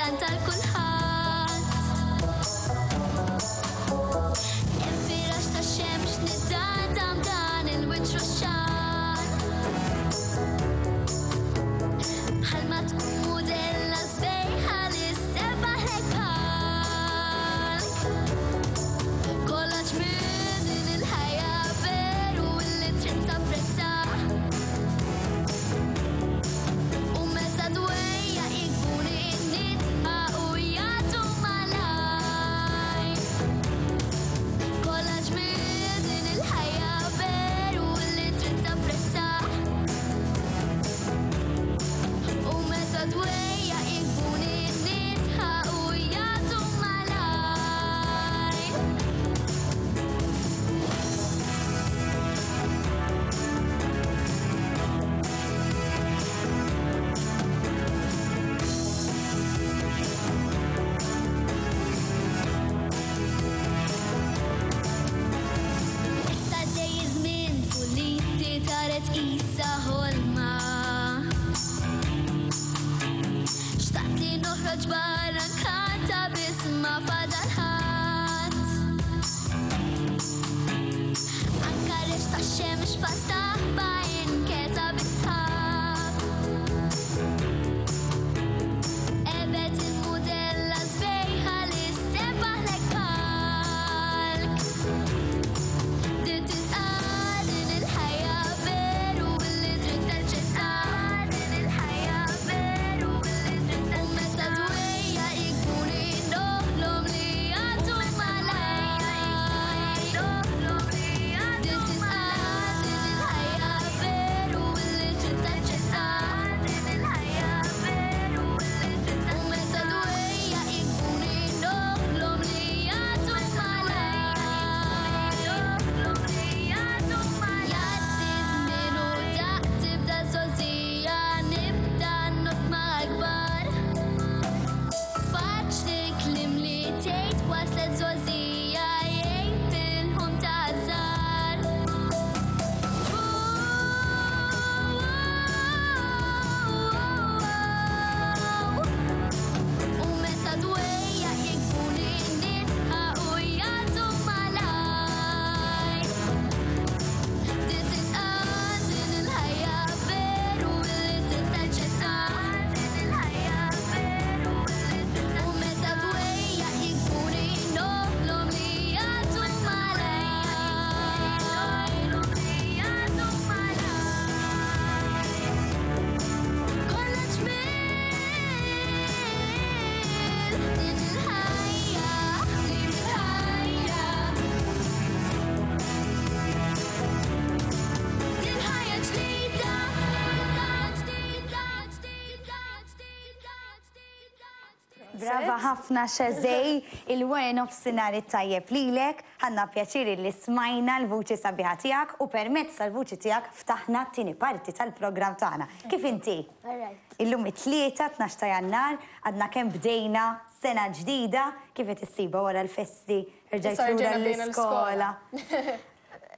tkanta l kulħadd. Hemm firax ta' xemx nidandam dan il-wiċċ ruxxan. Bħalma tkun mudella sbejħa li ssebaħlek bħalk. Kollox minn din il-ħajja veru li trid tapprezza. U meta dwejja ikun nitqa u jagħtu malajr. Kollox minn din il-ħajja veru li trid tapprezza. U meta dwejja ikun nitqa u jagħtu malajr. Issa dej iż-żmien puliti taret qisha ħolma. Xtaqt li noħroġ barra nkanta biss ma fadal ħadd. Anka rex tax-xemx pastaħba inketa bisħab. Ebet il-mudella sbejħa li ssebaħlek palk. Din titqal din il-ħajja veru li trid taċċetta. Din il-ħajja veru li trid U meta dwejja ikun noħlom li jagħtu malajr. Din titqal din il-ħajja veru li trid taċċetta. Din il-ħajja veru li trid U meta dwejja ikun noħlom li jagħtu malajr. Jgħaddi żmien u daq tibda żgħożija nibda not ma' kbar. Faċli kliem li tgħid waslet żgħożija jgħin fil-ħum ta' żgħar. U meta dwejja ikun nitqa u jagħtu malajr. Din titqal din il-ħajja veru li trid taċċetta. Din il-ħajja veru li trid U meta dwejja ikun noħlom li jagħtu malajr. Kollox mill din il-ħajja, din il-ħajja. Din ħajja ġdida, ġdida, ġdida, ġdida, ġdida. Brava ħafna Shazay, il-wara nofsinhar it-tajjeb lilek, ħadna pjaċir li smajna l-vuċi sabiħa tiegħek u permezz tal-vuċi tiegħek ftaħna t-tieni parti tal-programm tagħna. Kif inti? Alright. Illum it-tlieta 12 ta' Jannar, għadna kemm bdejna sena ġdida, kif qed issiba wara l-festi, rġajt Issa lura rġajna bdejna l-iskola.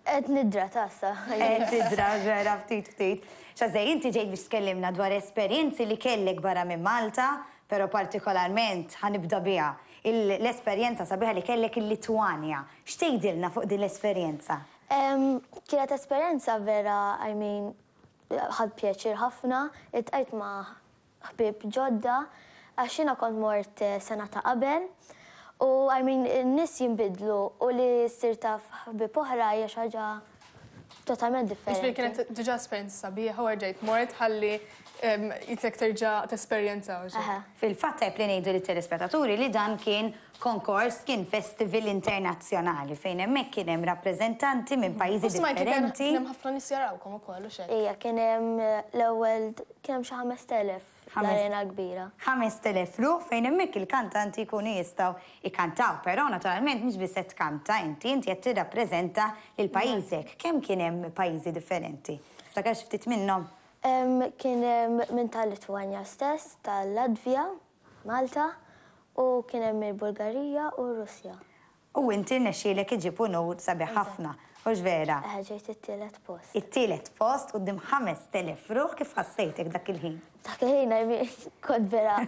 Qed nidra tassa. Qed tidra vera ftit ftit. Shazay, inti ġejt biex tkellimna dwar esperjenzi li kellek barra minn Malta, però partikolarment ħa nibda biha l-esperjenza sabiħa li kellek il-Litwanja. X'tgħidilna fuq din l-esperjenza? Kienet esperjenza vera, I mean, ħadt pjaċir ħafna, iltqajt ma' ħbieb ġodda, għax jiena kont mort sena ta' qabel, u I mean, in-nies jinbidlu u li ssir taf ħbieb oħra hija xi ħaġa totalment Ġifieri differenti. kienet diġà esperjenza sabiħa u rġajt mort ħalli jitlek terġa' tesperjenza u xi. Aha. Fil-fatt tajb li ngħidu lit-telespettaturi li dan kien konkors, kien festival internazzjonali fejn hemmhekk kien hemm rappreżentanti minn pajjiżi U smajt li kien differenti. kien hemm ħafna nies jarawkom ukoll u xejn. Ija, kien hemm l-ewwel kien hemm xi 5000 fl-arena kbira. 5000 ruħ fejn hemmhekk il-kantanti jkunu jistgħu jkantaw, però naturalment mhux biss qed tkanta inti, inti qed tirrappreżenta lil pajjiżek. Kemm kien hemm pajjiżi differenti? Tiftakar xi ftit minnhom? Kien hemm minn tal-Litwanja stess, tal-Latvja, Malta, u kien hemm il-Bulgarija u r-Russja. U inti rnexxielek iġib unur sabiħ ħafna. Hux vera? Eħe, ġejt it-tielet post. It-tielet post quddiem 5,000 ruħ, kif ħassejtek dak il-ħin? Dak il-ħin, I mean, kont vera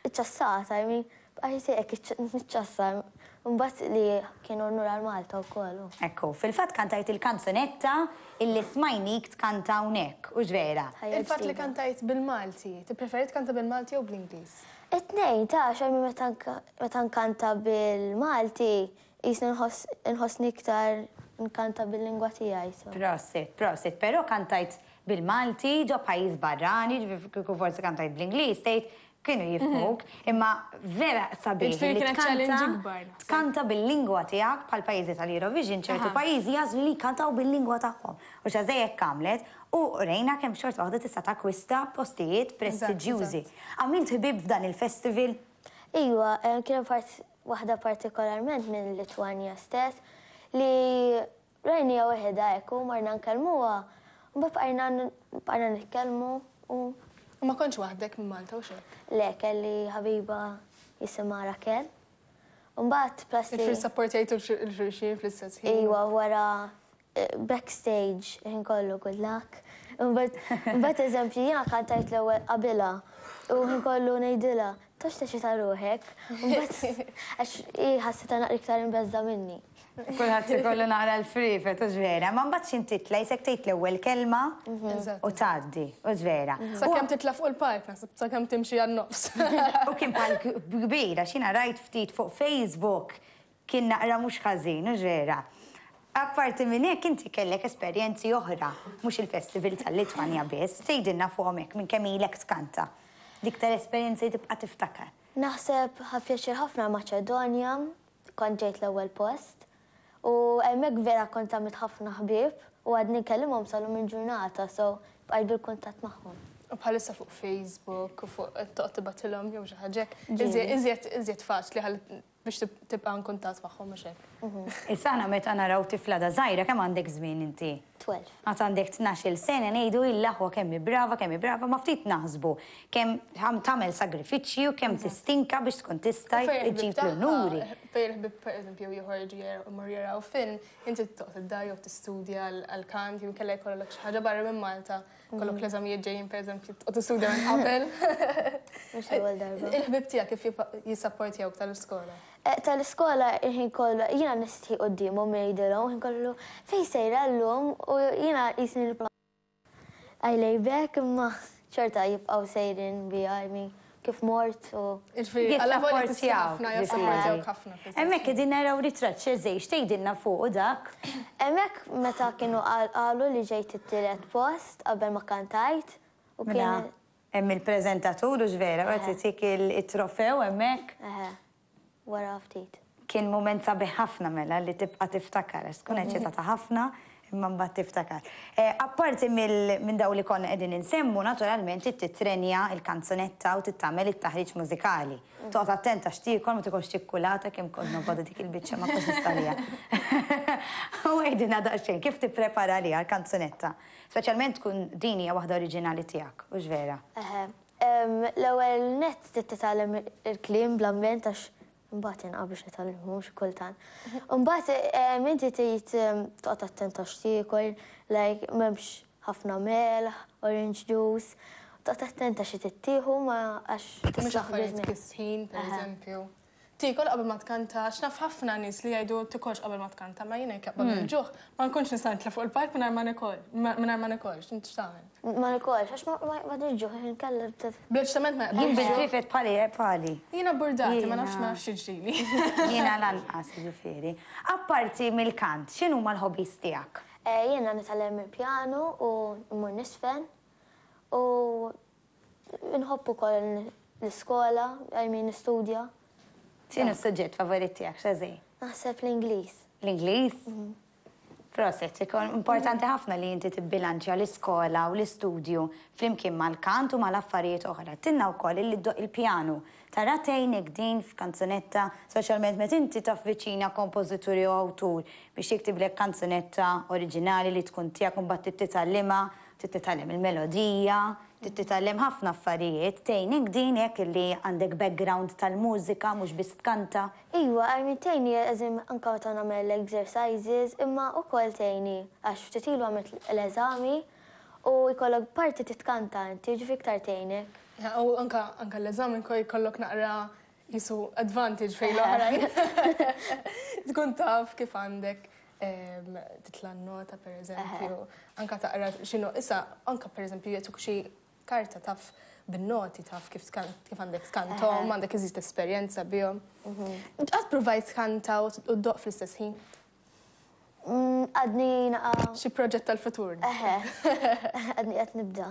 iċċassata, I mean, bqajt hekk niċċassa. Imbagħad li kien unur għal Malta wkoll. Ekku, fil-fatt kantajt il-kanzunetta illi smajnik tkanta hawnhekk, hux vera? Il-fatt li kantajt bil-Malti, tippreferi tkanta bil-Malti jew bl-Ingliż? It-tnejn, ta' għax I mean meta nkanta bil-Malti, qisni nħossni iktar nkanta bil-lingwa tiegħi. Prosit, prosit, però kantajt bil-Malti ġo pajjiż barrani, ġifieri kieku forsi kantajt bl-Ingliż, tgħid kienu jifhmuk, imma vera sabiħ li tkanta tkanta bil-lingwa tiegħek bħal pajjiżi tal-Eurovision, ċertu pajjiżi jagħżlu li jkantaw bil-lingwa tagħhom. U Shazay hekk għamlet u rejna kemm xorta waħda tista' takkwista postijiet prestiġjużi. Għamilt ħbieb f'dan il-festival? Iva, kien hemm waħda partikolarment minn Litwanja stess li Rajniha waħedha hekk u morna nkellmuha u mbagħad bqajna bqajna nitkellmu u. U ma kontx waħdek minn Malta hux hekk? Le, kelli ħabiba jisimha Raquel. U mbagħad plus li. Jiġifieri ssapportjajtu 'l xulxin fl-istess ħin? Iva, wara backstage il-ħin kollu good luck. Imbagħad imbagħad eżempju jiena kantajt l-ewwel qabilha u l-ħin kollu ngħidilha toqgħodx teċċita ruħek. Imbagħad għax hi ħassitha naqra iktar imbeżżgħa minni. Kulħadd ikollu naqra l-friefet, hux vera? Ma mbagħad x'int titla' jisek tgħid l-ewwel kelma u tgħaddi, hux vera? Sakemm titla' fuq il-palk naħseb, sakemm timxi għan-nofs. U kien palk kbir għax jiena rajt ftit fuq Facebook kien naqra mhux ħażin, hux vera? Apparti minn hekk inti kellek esperjenzi oħra, mhux il-festival tal-Litwanja biss, tgħidilna fuqhom hekk minn kemm ilek tkanta. L-iktar esperjenza li tibqa' tiftakar. Naħseb ħadt pjaċir ħafna l-Maċedonja, Kont ġejt l-ewwel post u hemmhekk vera kont għamilt ħafna ħbieb u għadni nkellimhom sal-lum il-ġurnata so bqajt bil-kuntatt magħhom. U bħalissa fuq Facebook u fuq toqgħod tibgħatilhom jew xi ħaġa hekk. Iżjed iżjed faċli ħalli biex tibqa' in kuntatt magħhom mhux hekk. Issa aħna meta naraw tifla da żgħira kemm għandek żmien inti? 12. Għad għandek 12-il sena ngħidu il-aħwa kemm hi brava, kemm hi brava, ma ftit naħsbu kemm tagħmel sagrifiċċji u kemm tistinka biex tkun tista' ġġib l-unuri. Fejn il-ħbieb pereżempju joħorġu jmorru jaraw film, inti toqgħod id-dar jew tistudja għall-kant jew inkella jkollok xi ħaġa barra minn Malta, jkollok l-eżamijiet ġejjin pereżempju toqgħod tistudja minn qabel. Mhux l-ewwel darba. Il-ħbieb tiegħek kif jissapportjawk tal-iskola? Tal-iskola il-ħin kollu jiena nistħi quddiemhom ngħidilhom, il-ħin kollu fejn sejra llum u jiena qisni nibqa' I lay back imma xorta jibqgħu sejrin bija, I mean kif mort u. Jiġifieri allavolja tistħi ħafna jassapportjawk ħafna. Hemmhekk qegħdin naraw ritratt x'eżej, x'tgħidilna fuqu dak? Hemmhekk meta kienu qalu li ġejt it-tielet post qabel ma kantajt u kien. Hemm il-preżentatur hux vera, u qed itik it-trofew hemmhekk. Eħe, wara ftit. Kien mument sabiħ ħafna mela li tibqa' tiftakar għax tkun eċċitata ħafna imma mbagħad tiftakar. Apparti minn dawn li konna qegħdin insemmu, naturalment trid tittrenja l-kanzunetta u trid tagħmel it-taħriġ mużikali. Toqgħod attenta x'tiekol, ma tikolx ċikkulata kemm kont nobgħodha dik il-biċċa ma kontx nista' għaliha. U għidilna daqsxejn kif tipprepara għaliha l-kanzunetta? Speċjalment tkun din hija waħda oriġinali tiegħek, hux vera? Eħe. L-ewwel nett trid titgħallem il-kliem bl-amment għax imbagħad inqa' biex nitgħallimhom xi kultant. Imbagħad inti trid toqgħod attent għax tiekol, like m'hemmx ħafna melħ, orange juice, toqgħod attenta xi trid tieħu ma għax Mhux tislaħ affarijiet biż-żmien. kisħin, pereżempju. Tiekol qabel ma tkanta, għax naf ħafna nies li jgħidu tikolx qabel ma tkanta, ma jiena jekk jaqbad il-ġuħ, ma nkunx nista' nitla' fuq il-palk mingħajr ma nikol, mingħajr ma nikolx, int x'tagħmel? Ma nikolx, għax ma m'għandix ġuħ, inkella Bl-eċitament ma Jien jaqbadx ġuħ. bil-ġrifet bħali bħali. Jiena burdati, ma nafx ma nafx x'jiġrili. Jiena lanqas, jiġifieri. Apparti mill-kant, x'inhuma l-hobbies tiegħek? Jiena nitgħallem il-pjanu u mmur niżfen u Inħobb ukoll l-iskola, I mean nistudja. X'inhu s-suġġett favorit tiegħek, Shazzy? Naħseb l-Ingliż. L-Ingliż? Proset, ikun importanti ħafna li inti tibbilanċja l-iskola u l-istudju flimkien mal-kant u mal-affarijiet oħra. Għedtilna wkoll illi ddoqq il-pjanu. Tara tgħinek din f'kanzunetta, speċjalment meta inti tavviċina kompożitur jew awtur biex jiktiblek kanzunetta oriġinali li tkun tiegħek u mbagħad trid titgħallimha. Trid titgħallem il-melodija, trid titgħallem ħafna affarijiet. Tgħinek din hekk li għandek background tal-mużika mhux biss tkanta? Iva, I mean tgħinni as in anke meta nagħmel l-exercises imma wkoll tgħinni għax ftit ilu għamilt l-eżami u jkollok parti titkanta inti jiġifieri iktar tgħinek. U anke anke l-eżami jkollok naqra qisu advantage fejn l-oħrajn. Tkun taf kif għandek titla' n-nota per eżempju, anka taqra x'inhu issa anka per eżempju jagħtuk xi karta taf bin-noti taf kif kif għandek tkanthom, għandek iżjed esperjenza bihom. Qatt provajt tkanta u ddoqq fl-istess ħin? Għadni naqa'. Xi proġett tal-futur. Eħe. Għadni qed nibda.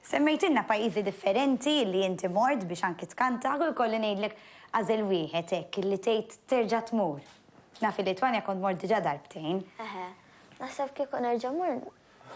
Semmejtilna pajjiżi differenti li inti mort biex anki tkanta, u jkolli ngħidlek għażel wieħed hekk li tgħid terġa' tmur. Naf il-Litwanja kont mort diġà darbtejn. Eħe. Naħseb kieku nerġa' mmur,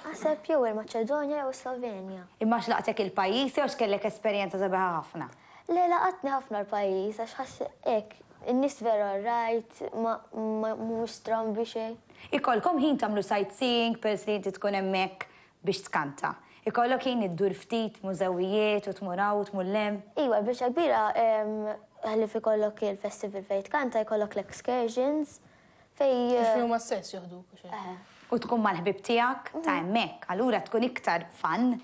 naħseb jew il-Maċedonja jew is-Slovenja. Imma għax laqtek il-pajjiż jew għax kellek esperjenza sabiħa ħafna? Le laqatni ħafna l-pajjiż għax ħass hekk, in-nies vera alright, ma mhumiex strambi xejn. Ikollkom ħin tagħmlu sightseeing peress li inti tkun hemmhekk biex tkanta? Ikollok ħin iddur ftit mużewijiet u tmur hawn u tmur 'l hemm? Iva, l-biċċa kbira ħlief ikollok il-festival fejn tkanta jkollok l-excursions fejn. Fejn huma stess joħduk u xejn. Eħe. U tkun mal-ħbieb tiegħek ta' hemmhekk, allura tkun iktar fun.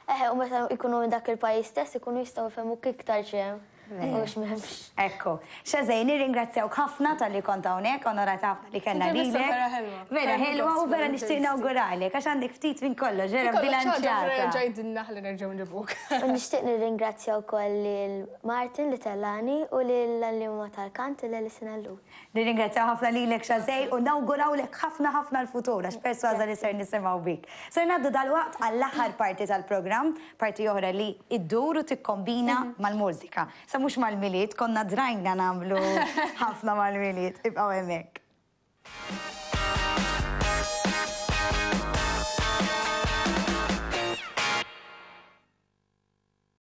Eħe, u meta jkunu minn dak il-pajjiż stess ikunu jistgħu jfehmuk iktar x'hemm u x'm'hemmx. Ekku. Shazay, nirringrazzjawk ħafna talli kont hawnhekk, onorata ħafna li kellna lilek. Intervista vera ħelwa. Vera ħelwa u vera nixtieq nawguralek għax għandek ftit minn kollox, vera bilanċjata. Erġa' għidilna ħalli nerġgħu nġibuk. U nixtieq nirringrazzja wkoll lil Martin li tellagħni u lill-għalliema tal-kant lil Alison Ellul. Nirringrazzjaw ħafna lilek Shazay u nawgurawlek ħafna ħafna l-futur għax persważa li ser nisimgħu bik. Ser ngħaddu dalwaqt għall-aħħar parti tal-programm, parti oħra li iddur u tikkombina mal-mużika. Sa mhux mal-Milied, konna drajna nagħmlu ħafna mal-Milied. Ibqgħu hemmhekk.